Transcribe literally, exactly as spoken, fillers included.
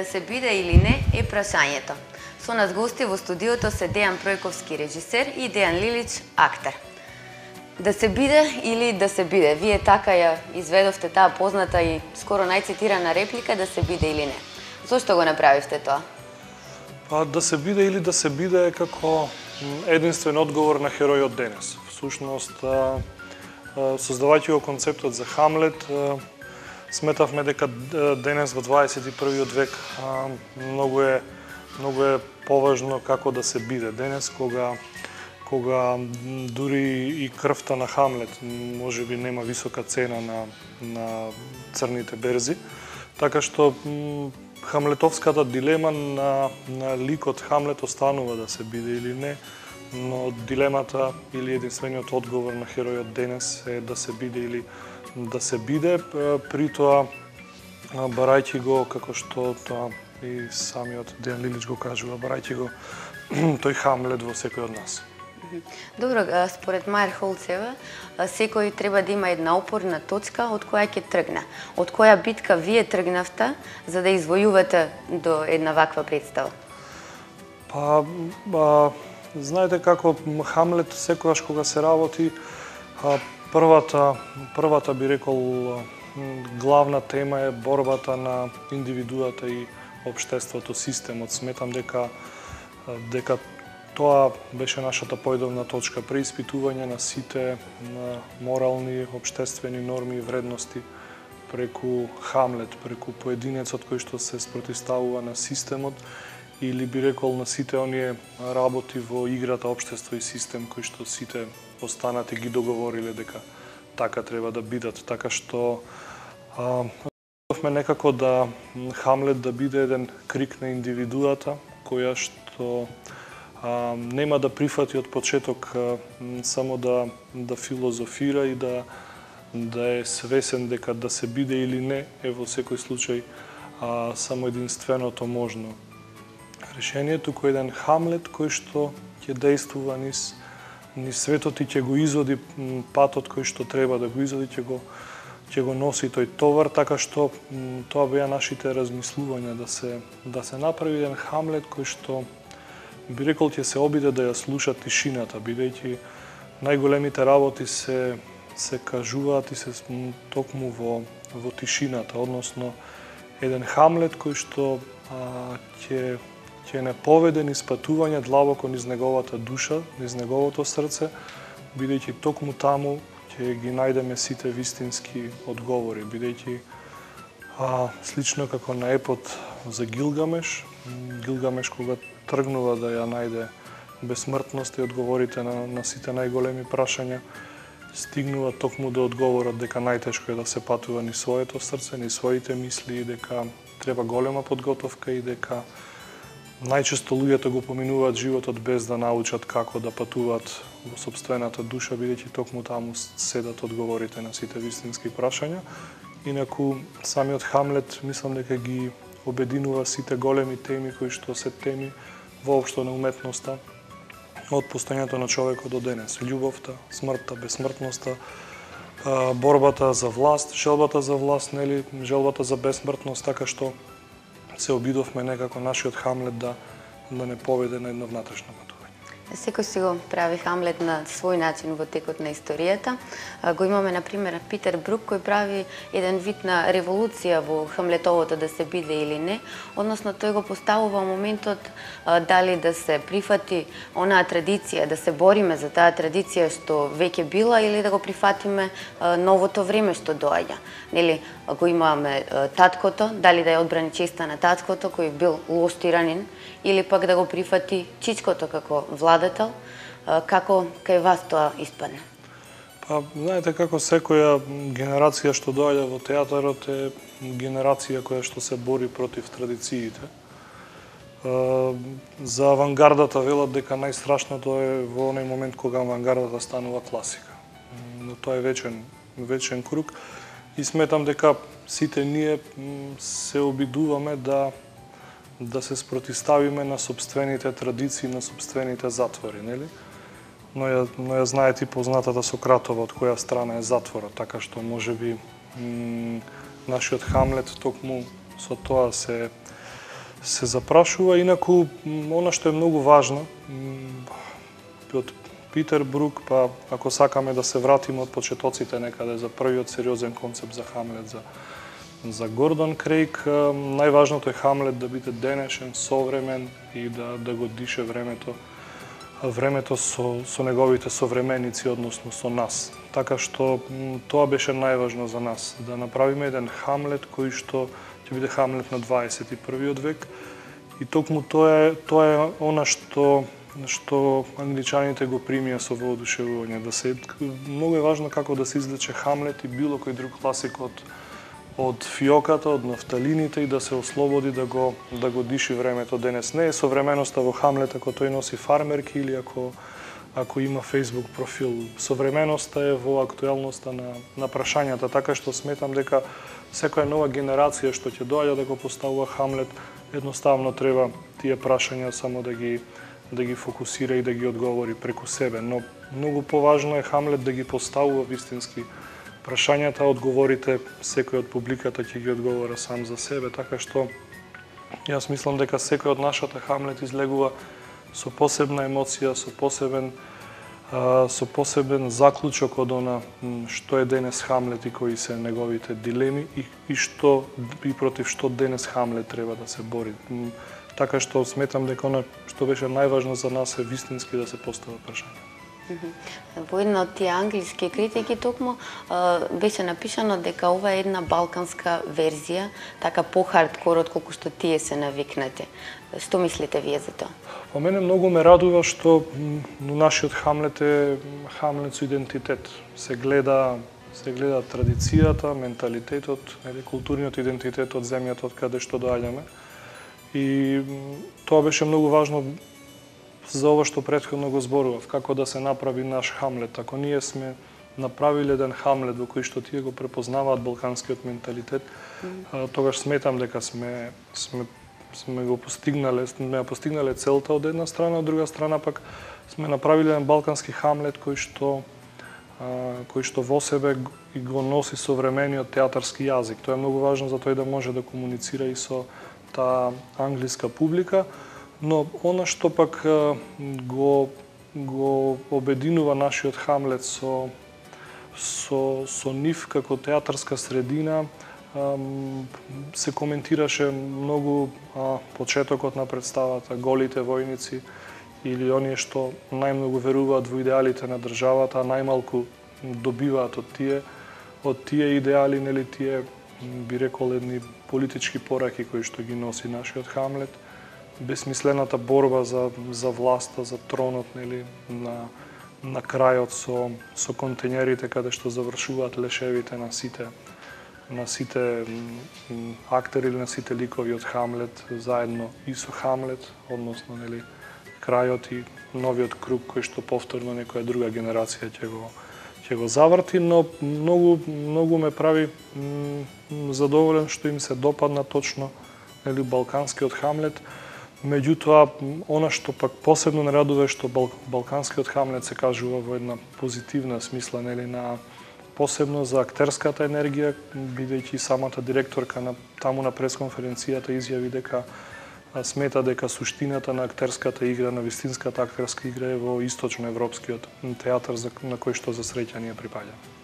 Да се биде или не е прашањето. Со нас гости во студиото се Дејан Пројковски, режисер, и Дејан Лилич, актер. Да се биде или да се биде? Вие така ја изведовте таа позната и скоро најцитирана реплика да се биде или не. Зошто го направивте тоа? Па да се биде или да се биде е како единствен одговор на херојот денес. Всушност, создавајќи го концептот за Хамлет, сметавме дека денес во дваесет и првиот век многу е многу е поважно како да се биде денес, кога кога дури и крвта на Хамлет можеби нема висока цена на на црните берзи, така што хамлетовската дилема на на ликот Хамлет останува да се биде или не, но дилемата или единствениот одговор на херојот денес е да се биде или да се биде, при тоа барајќи го, како што тоа и самиот Дејан Лилич го кажува, барајќи го тој Хамлет во секој од нас. Добро, според Мајер Холцева, секој треба да има една опорна точка од која ќе тргне. Од која битка вие тргнавте за да извојувате до една ваква представа? Па, а, знаете како Хамлет секогаш кога се работи, а, првата првата би рекол главна тема е борбата на индивидуата и општеството, системот. Сметам дека дека тоа беше нашата појдовна точка, преиспитување на сите на морални, општествени норми и вредности преку Хамлет, преку поединецот кој што се спротивставува на системот, или би рекол на сите оние работи во играта општество и систем кои што сите останати ги договориле дека така треба да бидат, така што а, некако да Хамлет да биде еден крик на индивидуата која што а, нема да прифати од почеток а, само да да филозофира и да да е свесен дека да се биде или не е во секој случај а, само единственото можно решението, кој еден Хамлет кој што ќе действува низ низ светот и ќе го изводи патот кој што треба да го изводи, ќе го ќе го носи тој товар, така што тоа беа нашите размислувања, да се да се направи еден Хамлет кој што би рекол ќе се обиде да ја слуша тишината, бидејќи најголемите работи се се кажуваат и се токму во во тишината, односно еден Хамлет кој што а, ќе ќе не поведе низ патување длабоко низ неговата душа, низ неговото срце, бидејќи токму таму ќе ги најдеме сите вистински одговори, бидејќи а, слично како на епот за Гилгамеш, Гилгамеш кога тргнува да ја најде бесмртност и одговорите на, на сите најголеми прашања, стигнува токму до одговорот дека најтешко е да се патува низ своето срце, низ своите мисли и дека треба голема подготовка и дека најчесто луѓето го поминуваат животот без да научат како да патуваат во сопствената душа, бидејќи токму таму седат одговорите на сите вистински прашања. Инаку, самиот Хамлет, мислам дека ги обединува сите големи теми кои што се теми воопшто на уметноста од постојањето на човекот до денес. Љубовта, смртта, бесмртноста, борбата за власт, желбата за власт, нели, желбата за бесмртност, така што се обидовме некако нашиот Хамлет да да не поведе на едно внатрешно патување. Секој си го прави Хамлет на свој начин во текот на историјата. Го имаме, например, Питер Брук, кој прави еден вид на револуција во Хамлетовото да се биде или не, односно тој го поставува моментот дали да се прифати онаа традиција, да се бориме за таа традиција што веќе била или да го прифатиме новото време што доаѓа. Нели, го имаме таткото, дали да ја одбрани честа на таткото кој бил лош тиранин, или пак да го прифати чичкото како владател, како кај вас тоа испадне? Па, знаете како секоја генерација што доаѓа во театарот е генерација која што се бори против традициите. За авангардата велат дека најстрашното е во оној момент кога авангардата станува класика. Но тоа е вечен вечен круг и сметам дека сите ние се обидуваме да да се спротивставиме на сопствените традиции, на сопствените затвори, нели? Но ја, но ја знаете и познатата Сократова од која страна е затворот, така што можеби нашиот Хамлет токму со тоа се се запрашува. Инаку, она што е многу важно, од Питер Брук, па ако сакаме да се вратиме од почетоците некаде за првиот сериозен концепт за Хамлет, за, за Гордон Крейг, најважното е Хамлет да биде денешен, современ и да, да го дише времето, времето со, со неговите современици, односно со нас. Така што тоа беше најважно за нас, да направиме еден Хамлет кој што ќе биде Хамлет на дваесет и првиот век. И токму тоа е, тоа е она што што англичаните го примија со воодушевување, да се многу е важно како да се извлече Хамлет и било кој друг класик од од фиоката, од нафталините и да се ослободи да го да го диши времето денес. Не е современоста во Хамлет ако тој носи фармерки или ако ако има Facebook профил. Современоста е во актуелноста на на прашањата, така што сметам дека секоја нова генерација што ќе доаѓа да го поставува Хамлет, едноставно треба тие прашања само да ги да ги фокусира и да ги одговори преку себе, но многу поважно е Хамлет да ги поставува вистински прашањата, одговорите секој од публиката ќе ги одговора сам за себе, така што јас мислам дека секој од нашата Хамлет излегува со посебна емоција, со посебен со посебен заклучок од она што е денес Хамлет и кои се неговите дилеми и, и што и против што денес Хамлет треба да се бори. Така што сметам дека она што беше најважно за нас е вистински да се постава прашање. Во една од тие англиски критики токму беше напишано дека ова е една балканска верзија, така по-хардкор од колку што тие се навикнати. Што мислите вие за тоа? По мене многу ме радува што нашиот Хамлет е Хамлет со идентитет. Се гледа се гледа традицијата, менталитетот, или културниот идентитет од земјата од каде што доаѓаме. И тоа беше многу важно за ова што претходно го зборував, како да се направи наш Хамлет. Ако ние сме направиле еден Хамлет во кој што тие го препознаваат балканскиот менталитет, mm. тогаш сметам дека сме сме сме го постигнале, сме постигнале целта од една страна, од друга страна пак сме направиле еден балкански Хамлет кој што кој што во себе го носи современиот театарски јазик. Тоа е многу важно за тој да може да комуницира и со таа англиска публика, но она што пак го го обединува нашиот Хамлет со со со нив како театарска средина, се коментираше многу почетокот на представата, голите војници или оние што најмногу веруваат во идеалите на државата, а најмалку добиваат од тие од тие идеали, нели тие би рекол едни политички пораки кои што ги носи нашиот Хамлет, безсмислената борба за за власта, за тронот, нели, на на крајот со со контењерите каде што завршуваат лешевите на сите на сите актери или на сите ликови од Хамлет заедно и со Хамлет, односно нели крајот и новиот круг кој што повторно некоја друга генерација ќе го ќе го заврти, но многу многу ме прави задоволен што им се допадна точно нели балканскиот Хамлет. Меѓутоа, она што пак посебно не радува е што бал, балканскиот Хамлет се кажува во една позитивна смисла, нели, на посебно за актерската енергија, бидејќи самата директорка на таму на пресконференцијата изјави дека смета дека суштината на актерската игра, на вистинската актерска игра е во источноевропскиот театар на кој што за среќа ние припаѓаме.